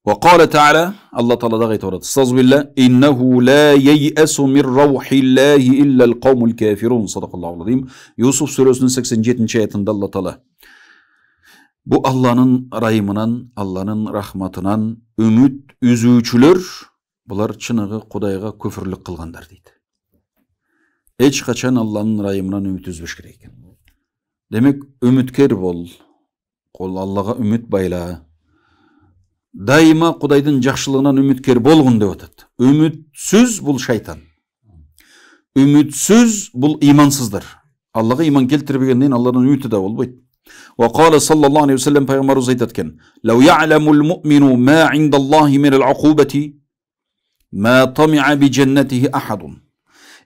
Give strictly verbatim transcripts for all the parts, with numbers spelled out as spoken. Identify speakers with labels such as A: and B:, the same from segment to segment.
A: وقال تعالى الله تعالى دغه aytib استغفر بالله انه لا ييأس من روح الله الا القوم الكافرون صدق الله العظيم. Yusuf surəsinin seksen жетинчи ayetinde Allah Teala bu Allah'ın rayımından, Allah'ın rahmatından ümit üzүүчүлөр bular çınığı Kudayga küfürlük kılganдар deydi. Eç kaçan Allah'ın rayımından ümit üzbüş gerek. Demek ümitker bol. Kol Allah'a ümit bayla. Daima Kudayдын жакшылыгынан ümitkер болгун деп атат. Ümitsiz bul şeytan. Ümitsiz bul imansızdır. Allah'a iman keltirбегенден Allah'ın ümiti de bolбойт. Wa qala sallallahu aleyhi ve sellem peygamberimiz aytatken: "Law ya'lamul mu'minu ma 'indallahi min al-'uqubati ma tami'a bi cennetihi ahadun."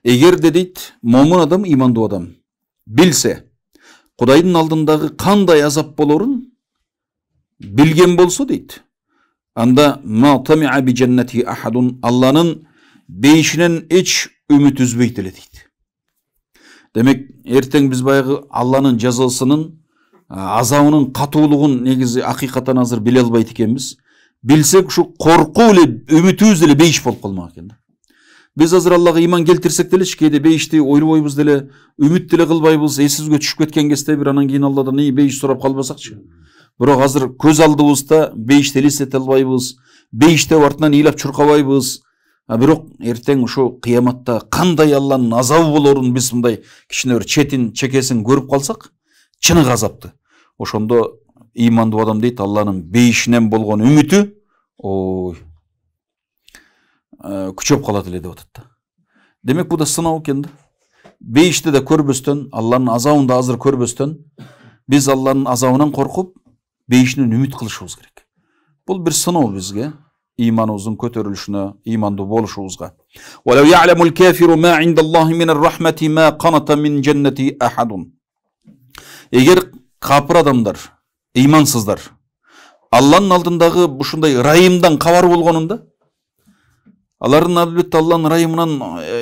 A: Eğer dedit momin adam, imandуу adam bilse, Kudayдын алдындагы кандай азап болорун билген болсо дейт. Анда ma tami'a bi cennetihi ahadun Allah'ın beyişinen hiç ümit üzbeyt ele deyt. Demek erteң biz bayagı Allah'ın жазасынын азабынын катуулугун негизи акыйкаттан азыр биле албайт экенбиз. Билсек ушу коркуу эле үмүтүбүз деле бейиш болуп калмак экен. Biz азыр Аллага иман келтирсек деле кээде бейишти ойлобойбуз деле, үмүт деле кылбайбыз, эсибизге түшүп кеткен кезде бир анан кийин Алладан ий бейиш сурап калбасакчы. Бирок азыр көз алдыбызда бейишти элестете албайбыз, бейиштеп артынан ыйлап чуркабайбыз. А бирок эртең ушу кыяматта кандай Алланын азабы болорун биз мындай кичине бир четин, чекесин көрүп калсак, чыныгы азапты. Ошондо имандуу адам дейт, Алланын бейишинен болгон үмүтү ой күчөп калат эле деп атат. Демек бу да сыноо экен да. Бейишти да көрбөстөн, Алланын азабын да азыр көрбөстөн, биз Алланын азабынан коркуп, бейишинен үмүт кылышыбыз керек. Бул бир сыноо бизге, иманыбыздын көтөрүлүшүнө, имандуу болушубузга. Wa law ya'lamul kafiru ma 'indallahi min ar-rahmati ma qanata min jannati ahadun. Эгер капыр адамдар, имансыздар Алланын алдындагы ушундай райымдан кабар болгонунда, алардын албетте Алланын райымынан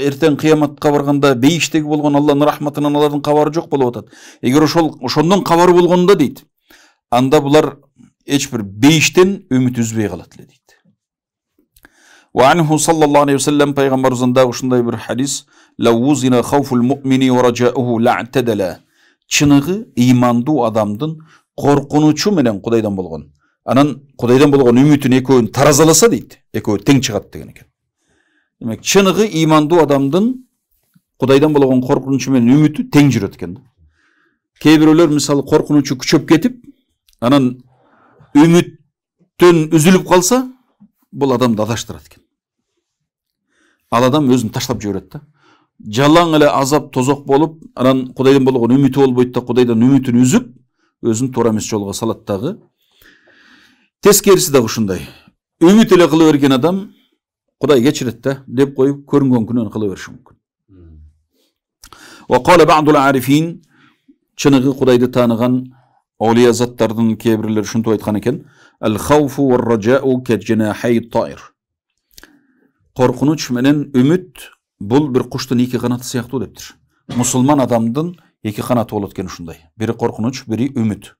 A: эртең кыяматка барганда бейиштеги болгон Алланын рахматынан алардын кабары жок болуп атат. Эгер ошол ошондон кабары болгонунда дейт, анда булар эч бир бейиштен үмүт үзбөй калат эле дейт. Wa anhu sallallahu aleyhi ve sellem peygamberimizden da ушундай бир hadis: "Law wuzina khawful mu'mini wa raja'uhu la'tadala." Чыныгы имандуу адамдын коркунучу менен Кудайдан болгон, анан Кудайдан болгон үмүтүн экөөнү таразаласа дейт, экөө тең чыгат деген экен. Демек чыныгы имандуу адамдын Кудайдан болгон коркунучу менен үмүтү тең жүрөт экен. Кээ бирөөлөр мисалы коркунучу күчөп кетип, анан үмүттөн үзүлүп калса, бул адамды адаштырат экен. Ал адам өзүн таштап жиберет да. Жалаң эле азап тозок болуп, анан Кудайдан болгон үмүтү болбойт да, Кудайдан үмүтүн үзүп, өзүн туура эмес жолго салат дагы. Тескериси дагы ушундай. Үмүт эле кыла берген адам Кудай кечирет да деп коюп көрүнгөн күнөн кыла бериши мүмкүн. Wa qala ba'dul arifin, чыныгы Кудайды тааныган олия заттардын кээ бирлери ушинтип айткан экен: "Al-khawfu war-raja'u ka-janahay at-ta'ir." Коркунуч менен үмүт бул бир куштун эки канаты сыяктуу дептир. Мусулман адамдын эки канаты болот экен ушундай. Бири коркунуч, бири үмүт.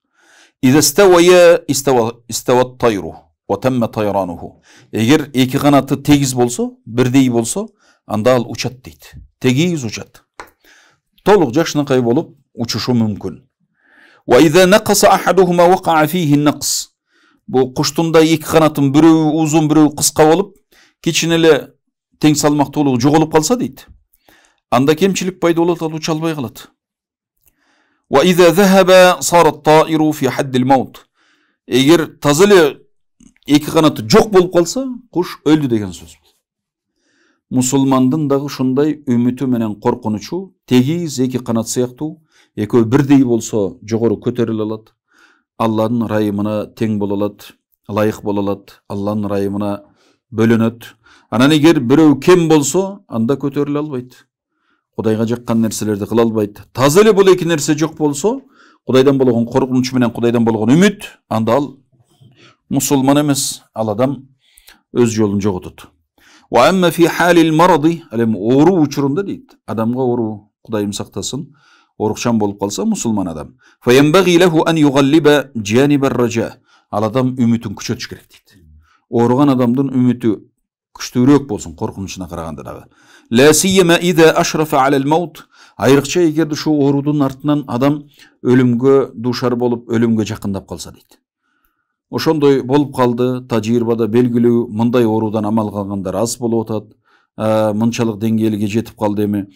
A: Иza stawaya istawa istawa at-tayru wa tamma tayranuhu. Эгер эки канаты тегиз болсо, бирдей болсо, анда ал учат дейт. Тегиз учат. Толук жакшынакай болуп учушу мүмкүн. Wa iza naqasa ahaduhuma waqa'a fihi an-naqs. Бу куштунда эки канатын бирөө узун, бирөө кыска болуп, кичине эле тең салмактуулугу жоголуп калса дейт, анда кемчилик пайда болот, ал уча албай калат. Wa iza dhahaba sara at-ta'iru fi hadd al-maut. Эгер таза эле эки канаты жок болуп калса, куш өлдү деген сөз. Мусулмандын дагы ушундай үмүтү менен коркунучу тегиз эки канат сыяктуу, экөө бирдей болсо жогору көтөрүлө алат, Алланын райымына тең боло алат, ылайык боло алат, Алланын райымына бөлөнөт. Анан эгер бирөө кем болсо, анда көтөрүлө албайт. Кудайга жаккан нерселерди кыла албайт. Таза эле бул эки нерсе жок болсо, Кудайдан болгон коркунуч менен Кудайдан болгон үмүт, анда ал мусулман эмес, ал адам өз жолун жоготот. Wa amma fi halil maradi, алем оору учурунда дейт, адамга оору, Кудайым сактасын, орукчан болуп калса мусулман адам. Fa yanbaghi lahu an yughalliba janib ar-raja. Ал адам үмүтүн күчөтүш керек дейт. ооруган адамдын үмүтү күчтүүрөөк болсун, коркунучуна караганда дагы. Ла сийяма иза ашрафа алал маут. Айрыкча эгерде ушу оорудун артынан адам өлүмгө душар болуп, өлүмгө жакындап калса дейт. Ошондой болуп калды, тажрыйбада белгилүү мындай оорудан амал калгандар аз болуп атат. Мынчалык деңгээлге жетип калды эми.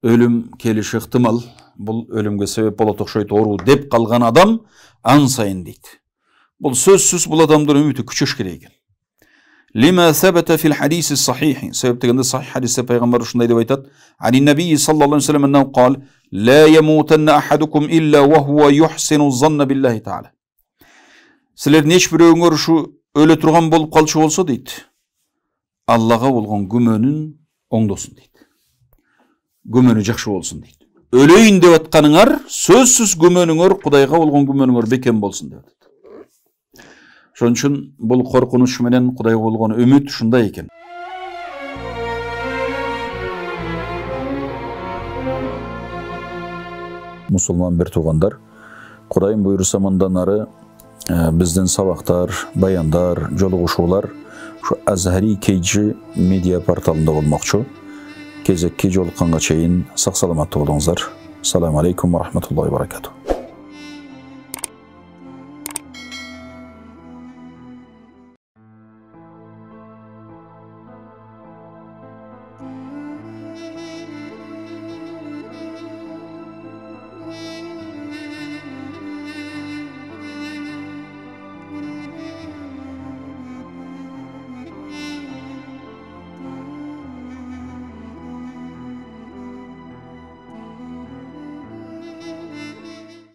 A: Өлүм келиши ыктымал, бул өлүмгө себеп болот окшойт оору деп калган адам ан сайын дейт. Бул сөзсүз бул адамдын үмүтү күчөш керек экен. Лима сабата фил хадиси сахих. Себеп дегенде сахих хадисте пайгамбар ушундай деп айтат. Ани набии саллаллаху алейхи ва саллям аннау кал: "Ла ямутанна ахадукум илля ва хува юхсину занна биллахи таала." Силердин эч бирөөңөр ушу өлө турган болуп калчу болсо дейт, Аллага болгон күмөнүн оңдосун дейт. Күмөнү жакшы болсун дейт. Өлөйүн деп атканыңар сөзсүз күмөнүңөр, Кудайга болгон күмөнүңөр бекем болсун деп атат. Ошон үчүн бул коркунуч менен Кудайга болгон үмүт ушундай экен. Мусулман бир туугандар, Кудайым буйруса мындан ары биздин сабактар, баяндар, жолугушуулар ушу Азхари кей джи медиа порталында болмокчу. Кезекке жолукканга чейин сак саламаттуу болуңуздар. Ассаламу алейкум ва рахматуллахи ва баракатух.